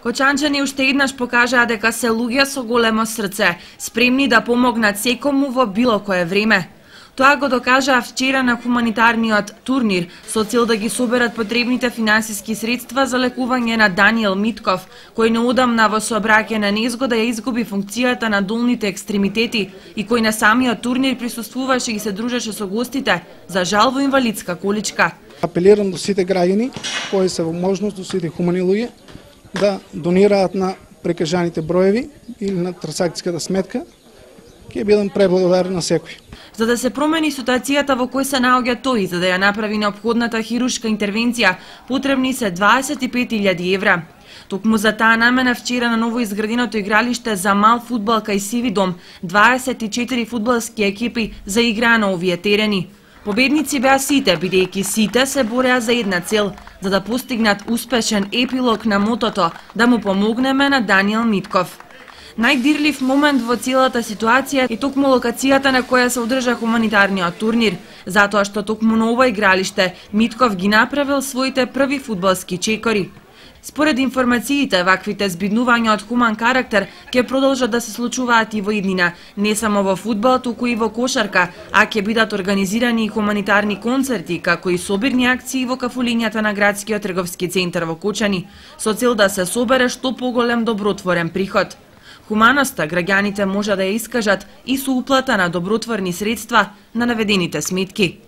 Кочанчани уште еднаш покажаа дека се луѓе со големо срце, спремни да помогнат секому во било кое време. Тоа го докажаа вчера на хуманитарниот турнир со цел да ги соберат потребните финансиски средства за лекување на Даниел Митков, кој неодамна во сообраќајна незгода ја изгуби функцијата на долните екстремитети и кој на самиот турнир присуствуваше и се дружеше со гостите, за жал во инвалидска количка. Апелирам до сите граѓани кои се во можност, до сите хумани луѓе, да донираат на прекажаните броеви или на трансакцијската сметка. Ќе бидам преблагодарен на секој. За да се промени ситуацијата во кој се наоѓа тој, за да ја направи неопходната хируршка интервенција, потребни се 25.000 евра. Токму за таа намена вчера на новоизграденото игралиште за мал фудбал кај Сиви дом, 24 фудбалски екипи заиграа на овие терени. Победници беа сите, бидејќи сите се бореа за една цел, за да постигнат успешен епилог на мотото да му помогнеме на Даниел Митков. Најдирлив момент во целата ситуација е токму локацијата на која се одржа хуманитарниот турнир, затоа што токму на ова игралиште Митков ги направил своите први фудбалски чекори. Според информациите, ваквите збиднувања од хуман карактер ќе продолжат да се случуваат и во иднина, не само во фудбал, туку и во кошарка, а ќе бидат организирани и хуманитарни концерти, како и собирни акции во кафулињата на градскиот трговски центар во Кочани, со цел да се собере што поголем добротворен приход. Хуманоста граѓаните може да ја искажат и со уплата на добротворни средства на наведените сметки.